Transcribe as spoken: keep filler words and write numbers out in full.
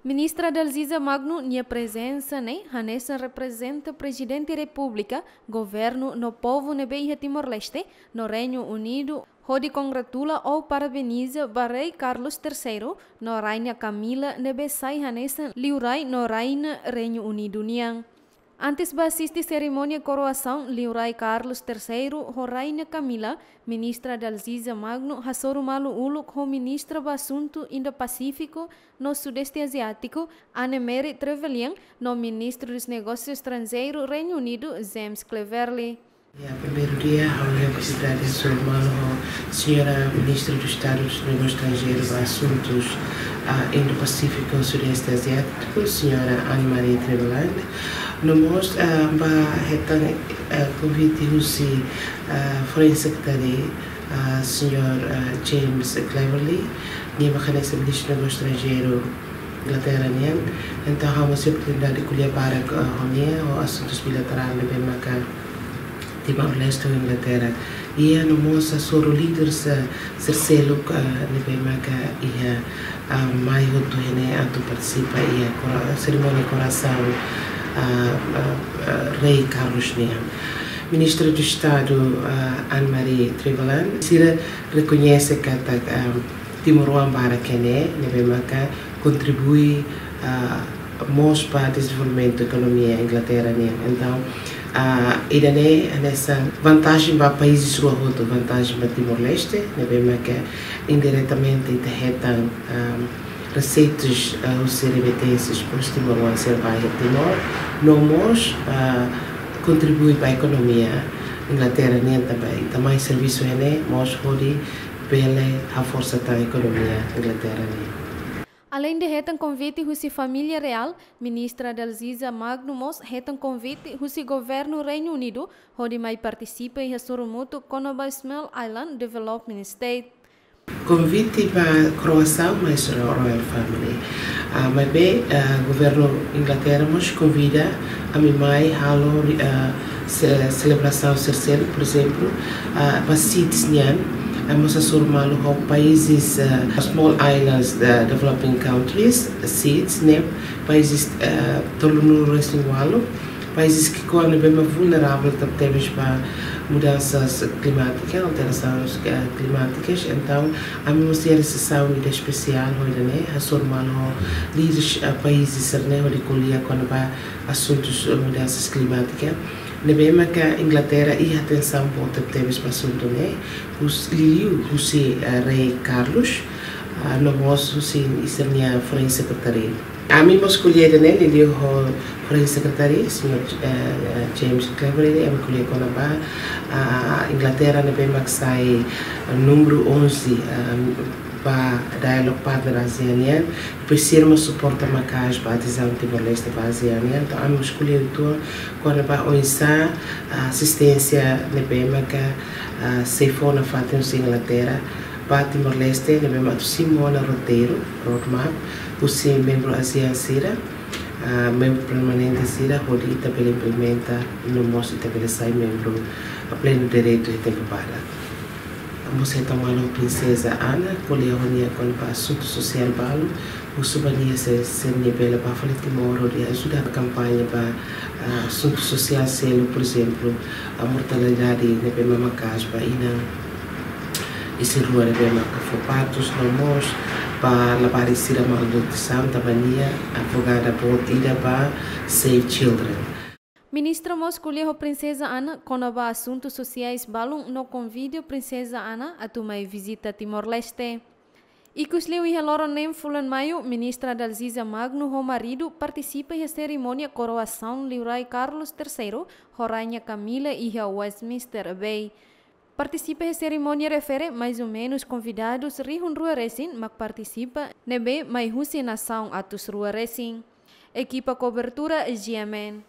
Ministra Dalziza Magno nia prezensa ne'e hanesan reprezenta Prezidente Repúblika, governu no povu ne'ebé iha Timor-Leste no Reinu Unidu, hodi kongratula ou parabeniza ba Rei Carlos Terseiru no Rainha Camilla ne'ebé sai hanesan liurai no rainha Reinu Unidu nian. Antes ba asiste serimónia koroasaun liurai Carlos Terseiru ho Rainha Camilla, Ministra Dalziza Magno hasoru malu uluk ho Ministra ba Asuntu Indo-Pasífiku no Sudeste Aziátiku, Anne-Marie Trevelyan, no Ministru dos Negósius Estranjeirus Reinu Unidu, James Cleverly. Ya, primeiru dia, ha'u iha oportunidade hasoru malu ho Señora Ministra do Estado dos Negócios Estrangeiros ba Asuntus, ah, Indo-Pasífiku Sudeste Aziátiku, Señora Anne-Marie Trevelyan. No mós, ah, ba hetan, ah, konvite husi, ah, Foreign Secretary, ah, Señor, ah, James Cleverly, nia mak hanesan Ministru Negósius Estranjeirus Inglaterra nian. Entaun, ha'u mós tive oportunidade ko'alia barak, ah, ho nia, ho asuntus bilaterál ne'ebé maka Timor-Leste ho Inglaterra. Iha no mós hasoru líderes, ah, sira seluk, ah, ne'ebé maka iha, ah, mai hotu iha ne'e atu partisipa iha kora-, serimónia koroasaun, ah, ah, ah, Rei Carlos nian. Ministra do Estado, ah, Anne-Marie Trevelyan, sira rekoñese katak, ah, timoroan barak iha ne'e, ne'ebé maka kontribui, ah, mós ba dezenvolvimentu ekonomia Inglaterra nian. Entaun, ah, ida-ne'e hanesan vantajen ba países rua hotu, vantajen ba Timor-Leste, ne'ebé maka indiretamente ita hetan, ah, reseitas, ah, husi remitências ba timoroan sira ba iha Timor, no mós, ah, kontribui ba ekonomia Inglaterra nian tanba ita mai servisu iha ne'e mós hodi bele haforsa tan ekonomia Inglaterra nian. Aleinde hetan konvite husi família reál, Ministra Dalziza Magno mós hetan konvite husi governu Reinu Unidu hodi mai partisipa iha sorumutu kona-ba Small Island Development State. Konvite ba koroasaun mai husi Royal Family. Ah, maibé, ah, governu Inglaterra mós konvida ami mai halo, ah, se-, selebrasaun sira seluk, por ezemplu, ah, ba SIDS nian, ah, mós hasoru malu ho países, ah, Small Islands, ah, Developing Countries, SIDS, ne'e países, ah, tolunulu-resin-ualu, países ki'ikoan ne'ebé mak vulneravel tebetebes ba mudansa klimátika, alterasaun, ah, klimátika. Entaun, ami mós iha resesaun ida espesiál ho ida-ne'e, hasoru malu ho líderes, ah, países sira-ne'e hodi ko'alia kona-ba asuntus, ah, mudansa klimátika. Ne'ebé maka Inglaterra iha atensaun boot tebetebes ba asuntu ne'e, hus-, liuliu husi, ah, Rei Carlos, ah, no mós husi sira-nia Foreign Secretary. Ami mós ko'alia ida-ne'e liuliu ho Foreign Secretary, señor, eh, eh, James Cleverly, ami ko'alia kona-ba, ah, Inglaterra ne'ebé mak sai, eh, númeru onze, eh, ba Dialogue Partner ASEAN nian, presiza mós suporta maka'as ba adezaun Timor-Leste ba ASEAN nian. Entaun, ami mós ko'alia uitoan kona-ba oinsá, ah, asisténsia ne'ebé maka, ah, sei fó nafatin husi Inglaterra ba Timor-Leste, ne'ebé mak atu simu ona roteiru, roadmap, husi membru ASEAN sira, ah, membru permanente sira, hodi ita bele implementa, no mós ita bele sai membru, ah, plenu direitu iha tempu badak. Ami mós hetan malu Prinseza Ana, ko'alia ho nia kona-ba asuntu sosiál balu, husu ba nia se, se nia bele bá fali Timor hodi ajuda kampaña ba, ah, asuntu sosiál seluk, por ezemplu, ah, mortalidade ne'ebé mak maka'as ba inan isin-rua ne'ebé maka fó partus, no mós ba labarik sira malnutrisaun, tanba nia advogada boot ida ba Save Children. Ministra mós ko'alia ho Prinseza Ana kona-ba asuntu sosiais balun no konvida Prinseza Ana atu mai vizita Timor-Leste. Ikusliu iha loron neen fulan Maiu, Ministra Dalziza Magno ho maridu partisipa iha serimónia koroasaun Liurai Carlos Terseiru ho Rainha Camilla iha Westminster Abbey. Partisipa iha serimónia refere mais ou menus konvidadus rihun rua resin mak partisipa, ne'ebé mai husi nasaun atus rua resin. Ekipa kobertura G M N.